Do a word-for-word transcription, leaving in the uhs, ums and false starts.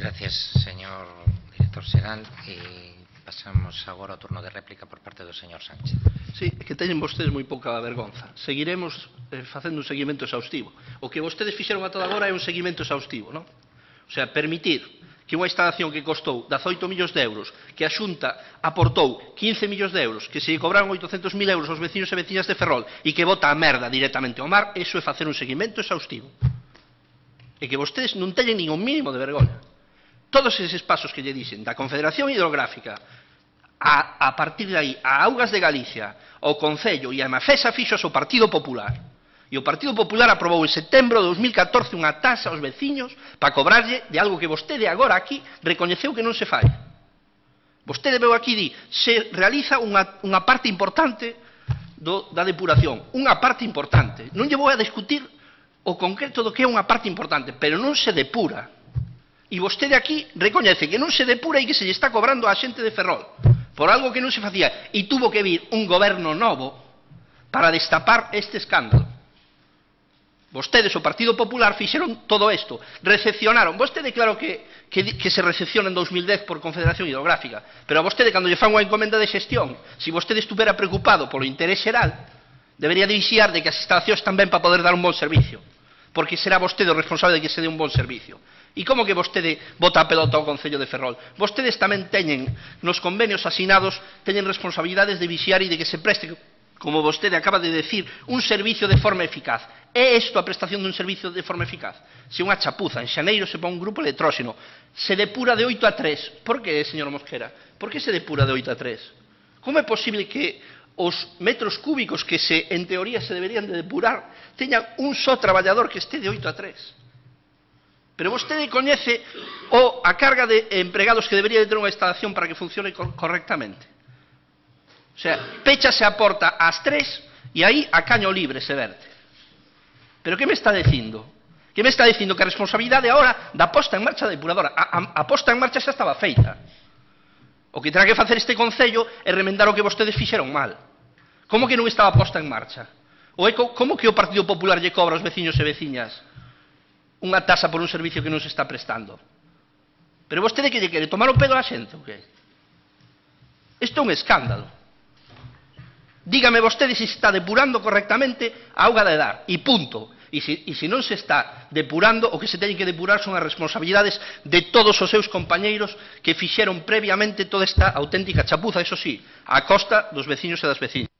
Gracias, señor director xeral. E pasamos agora ao turno de réplica por parte do señor Sánchez. Sí, é que teñen vostedes moi pouca vergonza. Seguiremos eh, facendo un seguimento exhaustivo. O que vostedes fixeron ata agora é un seguimento exhaustivo, non? O sea, permitir que unha instalación que costou dezaoito millóns de euros, que a Xunta aportou quince millóns de euros, que se lle cobraron oitocentos mil euros aos veciños e veciñas de Ferrol e que bota a merda directamente ao mar, eso é facer un seguimento exhaustivo. E que vostedes non teñen nin un mínimo de vergonha. Todos eses pasos que lle dixen da Confederación Hidrográfica a, a partir de aí a Augas de Galicia, ao Concello e a Mafesa fixo o Partido Popular. E o Partido Popular aprobou en setembro de dos mil catorce unha taxa aos veciños para cobrarlle de algo que vostede agora aquí recoñeceu que non se fai. Vostede veu aquí e di, se realiza unha, unha parte importante do, da depuración, unha parte importante. Non lle vou a discutir o concreto do que é unha parte importante, pero non se depura. E vostede aquí recoñece que non se depura e que se lle está cobrando á xente de Ferrol por algo que non se facía. E tuvo que vir un goberno novo para destapar este escándalo. Vostedes, o Partido Popular, fixeron todo isto. Recepcionaron. Vostede, claro que, que, que se recepciona en dos mil dez por Confederación Hidrográfica, pero a vostede, cando lle fan unha encomenda de xestión, se vostede estuvera preocupado polo interés xeral, debería de vixiar de que as instalacións tamén para poder dar un bon servicio, porque será vostede o responsable de que se dé un bon servicio. E como que vostede bota a pelota ao Concello de Ferrol? Vostedes tamén teñen, nos convenios asinados, teñen responsabilidades de vixiar e de que se preste, como vostede acaba de decir, un servicio de forma eficaz. É isto a prestación dun servicio de forma eficaz? Se unha chapuza, en xaneiro se pon un grupo electróxeno, se depura de oito a tres. Por que, señor Mosquera? Por que se depura de oito a tres? Como é posible que os metros cúbicos que se, en teoría se deberían de depurar teñan un só traballador que este de oito a tres? Pero vostede coñece o a carga de empregados que debería de ter unha instalación para que funcione correctamente. O sea, péchase a porta ás tres e aí a caño libre se verte. Pero que me está dicindo? Que me está dicindo que a responsabilidade agora da posta en marcha da depuradora. A, a, a posta en marcha xa estaba feita. O que terá que facer este Concello é remendar o que vostedes fixeron mal. Como que non estaba posta en marcha? Ou é co, como que o Partido Popular lle cobra aos veciños e veciñas unha tasa por un servicio que non se está prestando? Pero vostede que lle quere tomar o pelo a xente, ou que? Isto é un escándalo. Dígame vostede se se está depurando correctamente a auga de dar, e punto. E se, e se non se está depurando, o que se teñen que depurar son as responsabilidades de todos os seus compañeiros que fixeron previamente toda esta auténtica chapuza, eso sí, a costa dos veciños e das veciñas.